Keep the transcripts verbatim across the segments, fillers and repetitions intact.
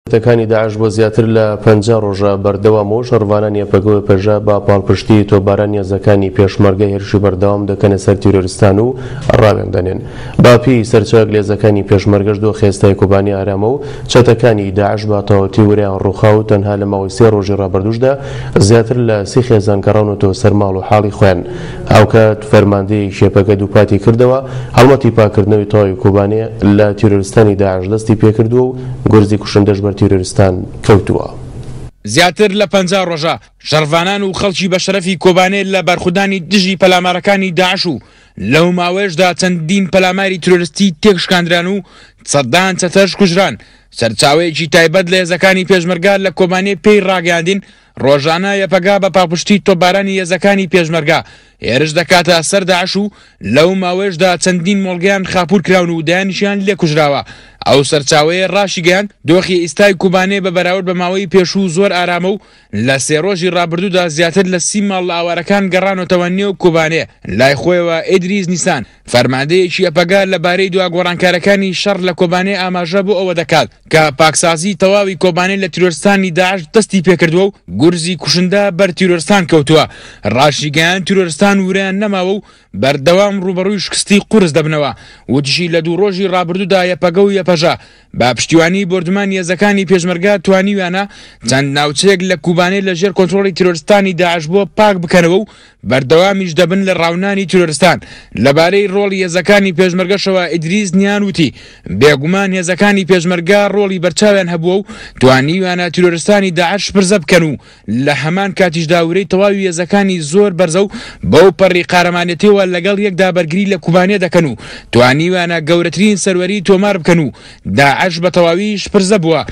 چەتەکانی داعش بۆ زیاتر لە پەنجا ڕۆژە بەردەوام و شەڕڤانانی یەپەگە و یەپەژە بە پاڵپشتی تۆپبارانی هێزەکانی پێشمەرگە هێرشی بەردەوام دەکەنە سەر تیرۆریستان و ڕاویان دەنێن. بە پێی سەرچاوێک لە هێزەکانی پێشمەرگەش دۆخی ئێستای کۆبانی ئارامە و چەتەکانی داعش بە تەواوەتی ورەیان ڕووخا و تەنها لە ماوەی سێ ڕۆژی ڕابردووشدا زیاتر لە سی خێزان گەڕاونەتەوە سەر ماڵ و حاڵی خۆیان. هاوکات فەرماندەیەکی یەپەگە دووپاتی کردەوە هەڵمەتی پاکردنەوەی تەواوی کۆبانێ لە تیرۆریستانی داعش دەستی پێکردووە و گورزی کوشندەش بەر تیرۆریستان کەوتووە. زیاتر لە پەنجا ڕۆژە شەڕڤانان و خەڵکی بەشەرەفی کۆبانێ لە بەرخودانی دژی پەلامارەکانی داعش و لەو ماوەیەشدا چەندین پەلاماری تیرۆریستی تێکشکاندران و سەدان چەتەش کوژران. سەرچاوەیەکی تایبەت لە هێزەکانی پێشمەرگە لە کۆبانێ پێی ڕاگەیاندین ڕۆژانە یەپەگە بە پاڵپشتی تۆپبارانی هێزەکانی پێشمەرگە هێرش دەکاتە سەر داعش و لەو ماوەیەشدا چەندین مۆڵگەیان خاپوور کراون و دەیانیشیان لێکوژراوە. ئەو سەرچاوەیە ڕاشیگەیاند دۆخی ئێستای کوبانێ بە بەراورد بە ماوەی پێشوو زۆر ئارامە و لە سێ ڕۆژی ڕابردوودا زیاتر لە سی ماڵ لە ئاوارەکان گەڕانەوەتەوە نێو کوبانێ. لای خۆیەوە ئیدریس نیسان فەرماندەیەکی یەپەگە لەبارەی دوا گۆڕانکارەکانی شەڕ لە کۆبانێ ئاماژە بۆ ئەوە دەکات کە پاکسازی تەواوی کۆبانێ لە تیرۆرستانی داعش دەستی پێکردووە و گورزی کوشندە بەر تیرۆرستان کەوتووە. ڕاشیگەیاند تیرۆرستان ورەیان نەماوە و بەردەوام ڕووبەڕووی شکستی قورس دەبنەوە. وتیشی لە دوو ڕۆژی ڕابردوودا یەپەگە و یەپەژە بە پشتیوانی بۆردومانی هێزەکانی پێشمەرگە توانیویانە چەند ناوچەیەک لە کوبانێ لە ژێر کۆنترۆڵی تیرۆرستانی داعش بۆ پاک بکەنەوە و بەردەوامیش دەبن لە ڕاونانی تیرۆرستان. لەبارەی ڕۆڵی هێزەکانی پێشمەرگەشەوە ئیدریس نیان وتی بێگومان هێزەکانی پێشمەرگە ڕۆڵی بەرچاویان هەبووە و توانیویانە تیرۆرستانی داعش پرزە بکەن و لە هەمان کاتیشدا ورەی تەواوی هێزەکانی زۆر بەرزە و بەو پەڕی قارەمانێتیەوە لەگەڵ یەکدا بەرگری لە کوبانێ دەکەن و توانیویانە گەورەترین سەروەری تۆمار بکەن و داعش بە تەواویش پرزە بووە.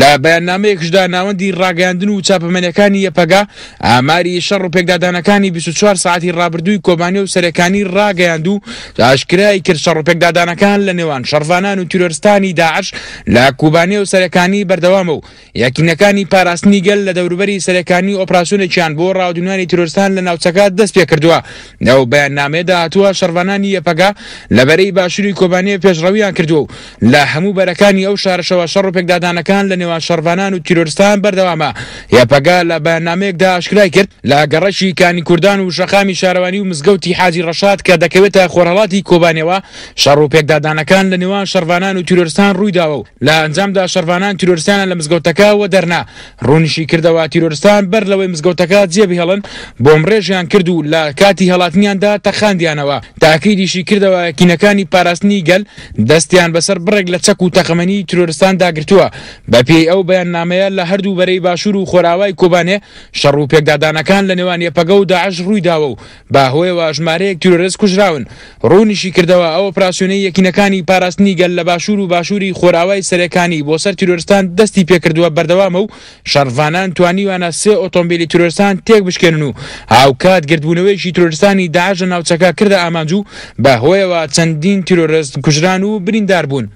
لە بەیاننامەیەکشدا ناوەندی ڕاگەیاندن و چاپەمەنیەکانی یەپەگە ئاماری شەڕ و پێکدادانەکانی بیست و چوار ساعەتی ڕابردووی کۆبانێ و سەرەکانی ڕاگەیاند و ئاشکرای کرد شەڕ و پێکدادانەکان لە نێوان شەڕڤانان و تیرۆرستانی داعش لە کوبانێ و سەرەکانی بەردەوامە و یەکینەکانی پاراستنی گەل لە دەوروبەری سەرەکانی ئۆپراسیۆنێکیان بۆ ڕاودونانی تیرۆرستان لە ناوچەکە دەست پێکردووە. لەو بەیاننامەیەدا هاتووە شەڕڤانانی یەپەگە لە بەرەی باشووری کۆبانێ پێشڕەویان کردووە و لە هەموو بەرەکانی ئەو شارەشەوە شەڕ و پێکدادانەکان لە نێوان شەڕڤانان و تیرۆرستان بەردەوامە. یەپەگە لە بەیاننامەیەکدا ئاشکرای کرد لە گەڕەکی کانی کوردان و شەقامی شارەوانی و مزگەوتی حاجی ڕەشاد کە دەکەوێتە خۆرهەڵاتی کۆبانێوە شەڕ و پێکدادانەکان لە نێوان شەڕڤانان و تیرۆرستان ڕوویداوە و لە ئەنجامدا شەڕڤانان تیرۆرستانیان لە مزگەوتەکە وەدەرنا. ڕوونیشی کردەوە تیرۆرستان بەر لەوەی مزگەوتەکە جێبهێڵن بۆمڕێژیان کرد و لە کاتی هەڵاتنیاندا تەخاندیانەوە. تاکیدیشی کردەوە یەکینەکانی پاراستنی گەل دەستیان بەسەر بڕێک لە چەک و تەقەمەنی تیرۆرستاندا گرتووە. بەپێی ئەو بەیاننامەیە لە هەردوو بەرەی باشوور و خۆراوای کۆبانێ شەڕ و پێکدادانەکان لە نێوان یەپەگە و داعش ڕوویداوە و بەهۆیەوە ژمارەیەک تیرۆرست کوژراون. ڕوونیشی کردەوە ئەو ئۆپراسیۆنەی یەکینەکانی پاراستنی گەل لە باشوور و باشووری خۆراوای سەرەکانی بۆ سەر تیرۆرستان دەستی پێکردووە بەردەوامە و شەڕڤانان توانیویانە سێ ئۆتۆمبیلی تیرۆرستان تێک بشکێنن و هاوکات گردبوونەوەیەکی تیرۆرستانی داعش لە ناوچەکە کردە ئامانج و بەهۆیەوە چەندین تیرۆرست کوژران و بریندار بوون.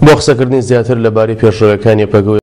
بۆ قسەکردنی زیاتر لەبارەی پێشڕەویەکانی یەپەگە